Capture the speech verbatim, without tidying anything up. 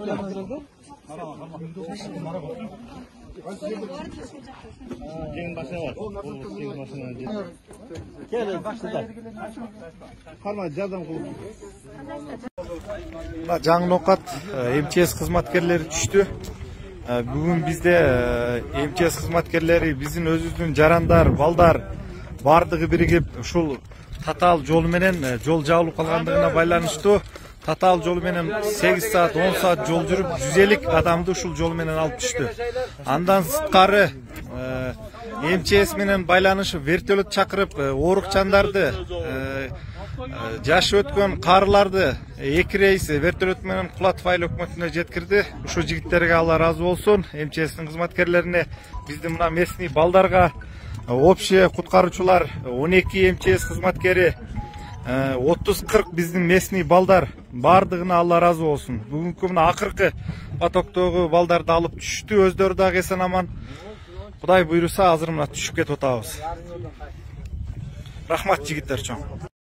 Жеңил машина бар. Жеңил машина. Келin, баштыдар. Карма жардам кылып. Жаңы ноокат эм че эс кызматкерлери түштү. Бүгүн бизде эм че эс кызматкерлери биздин өзүбүздүн жарандар, балдар бардыгы биригип ушул татаал жол менен жол жабылып калгандыгына байланыштуу татаал жол менен сегиз саат он саат жол жүрүп жүз элүү адамды ушул жол менен алып түштү. Андан сырткары эм че эс менен байланышып вертолет чакырып оорукчандарды жашы өткөн карыларды эки рейс вертолет менен кулатов айыл өкмөтүнө жеткирди. Ушул жигиттерге Алла ыраазы болсун. эм че эстин кызматкерлерине, биздин мына местный балдарга, общий куткаруучулар он эки эм че эс кызматкери, отуз кырк биздин местный балдар бардыгына Алла ыраазы болсун. Бүгүнкү мына акыркы потоктогу балдарды алып түштү. Өздөрү дагы эсен аман. Кудай буйруса азыр мына түшүп кетип атабыз. Рахмат жигиттер чоң.